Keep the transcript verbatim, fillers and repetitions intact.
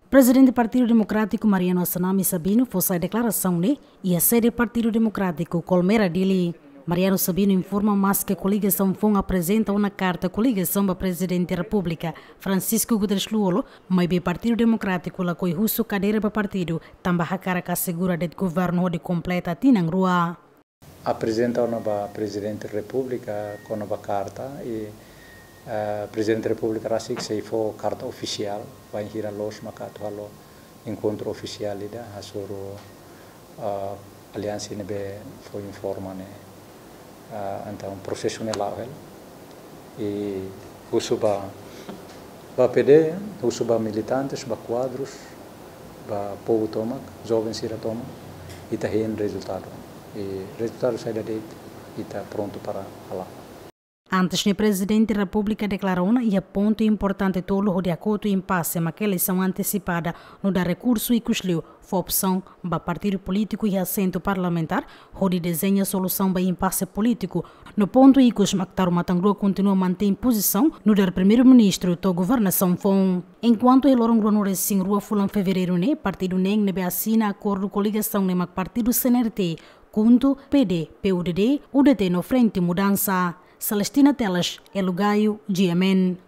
Prezidente Partidu Demokrátiku Mariano Assanami Sabino fó sai deklarasaun ne'e iha sede Partidu Demokrátiku, Colmera, Dili. Mariano Sabino informa maske koligasaun foun aprezenta ona karta koligasaun ba Prezidente Repúblika, Francisco Guterres Lú-Olo, maibé Partidu Demokrátiku lakohi husu kadeira ba partidu, tanba hakarak asegura de'it governu hodi kompleta tinan rua. Aprezenta ona ba Prezidente Repúblika kona-ba karta i, eh, Prezidente Repúblika rasik sei fó karta ofisiál, bainhira loos maka atu halo enkontru ofisiál ida hasoru, eh, aliansa ne'ebé fó informa ne'e. Eh, entaun prosesu ne'e la'o hela. I husu ba, ba P D, husu ba militantes, ba kuadrus, ba povu tomak, joven sira tomak, ita hein rezultadu. I rezultadu saida de'it, ita prontu para hala'o. Antes ne'e Prezidente Repúblika deklara ona iha pontu importante tolu hodi hakotu impase mak eleisaun antesipada, nu'udar rekursu ikus liu fó opsaun ba partidu polítiku iha asentu parlamentár hodi dezeña solusaun ba impase polítiku, no pontu ikus mak taru matan-rua kontinua mantein pozisaun nu'udar Primeiru-Ministru to'o governasaun foun. Enkuantu iha loron ruanulu-resin-rua fulan Fevereiru ne'e, partidu neen ne'ebé asina akordu koligasaun ne'e mak partidu C N R T, KHUNTO, P D, P U D D, U D T no Frente Mudança. Celestina Teles, Elo Gaio, G M N.